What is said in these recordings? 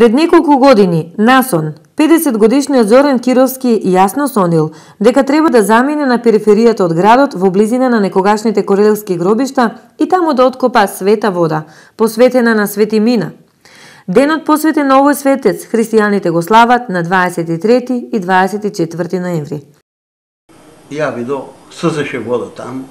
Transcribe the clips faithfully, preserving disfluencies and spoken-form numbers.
Пред неколку години, насон, педесет годишниот Зоран Кировски јасно сонил дека треба да замине на периферијата од градот во близина на некогашните корелевски гробишта и таму да откопа света вода, посветена на Свети Мина. Денот посветен на овој светец, христијаните го слават на дваесет и трети и дваесет и четврти ноември. Ја видо, созеше вода таму,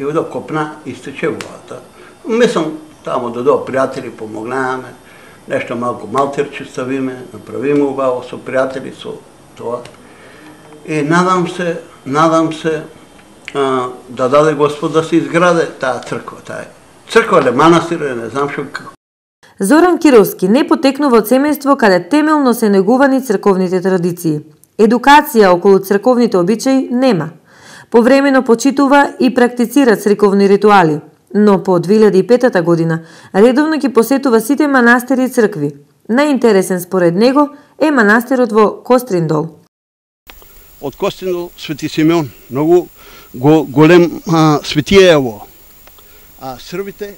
и видо копна, истече водата. Мислам, таму додо пријатели, помогнаваме, нешто малку малтерче ставиме, направиме убаво со пријатели, со тоа. И надам се, надам се а, да даде Господ да се изграде таа црква, таа црква или манастир, не знам што како. Зоран Кировски не потекнува од семејство каде темелно се негувани црковните традиции. Едукација околу црковните обичаи нема. Повремено почитува и практицира црковни ритуали, но по две илјади и пета година редовно ги посетува сите манастири и цркви. Најинтересен според него е манастирот во Костриндол. Од Костриндол Свети Симеон, многу го, голем а, светија е ово. А србите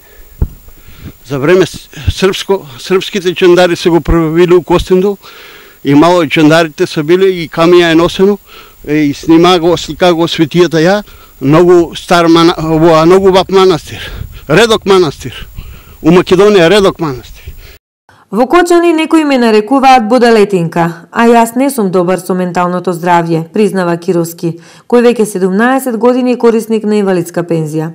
за време српско, српските чандари се го правили у Костриндол и мало чандарите се били и камија е носено и снима го, слика го светијата ја, многу стар мана, во многу баб манастир, редок манастир. У Македонија редок манастир. Во Кочани некои ме нарекуваат будалетинка, а јас не сум добар со менталното здравје, признава Кировски, кој веќе седумнаесет години е корисник на инвалидска пензија.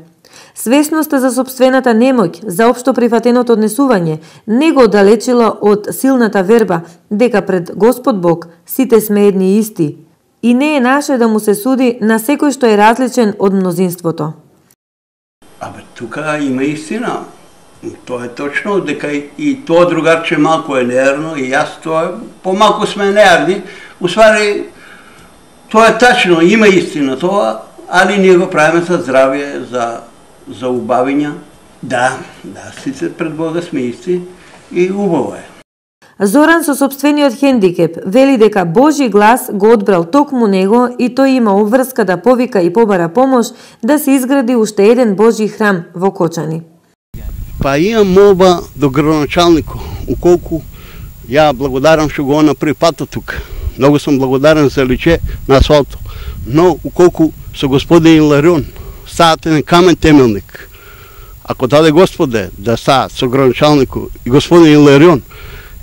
Свесноста за сопствената немоќ, за општо прифатеното однесување, не го оддалечила од силната верба дека пред Господ Бог сите сме едни и исти и не е наше да му се суди на секој што е различен од мнозинството. Абе, тука има истина. Тоа е точно, дека и тоа другарче малку е неерно и јас тоа помалку сме неерни. Усвари, тоа е тачно, има истина тоа, али ние го правиме за здравје, за за убавиња. Да, да, сите пред Бога сме исти и убаво е. Зоран со сопствениот хендикеп вели дека Божи глас го одбрал токму него и тој има обврска да повика и побара помош да се изгради уште еден Божи храм во Кочани. Па имам молба до градоначалнико, уколку ја благодарам што го направи патот тука. Многу сум благодарен за личе на асфалто. Но уколку со господин Иларион стаат еден камен темелник. Ако даде Господе да стаат со градоначалнико и господин Иларион,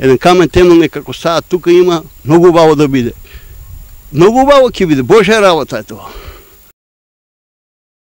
еден камен темелник ако стаат тука има, многу убаво да биде. Многу убаво ќе биде, Божја работа е тоа.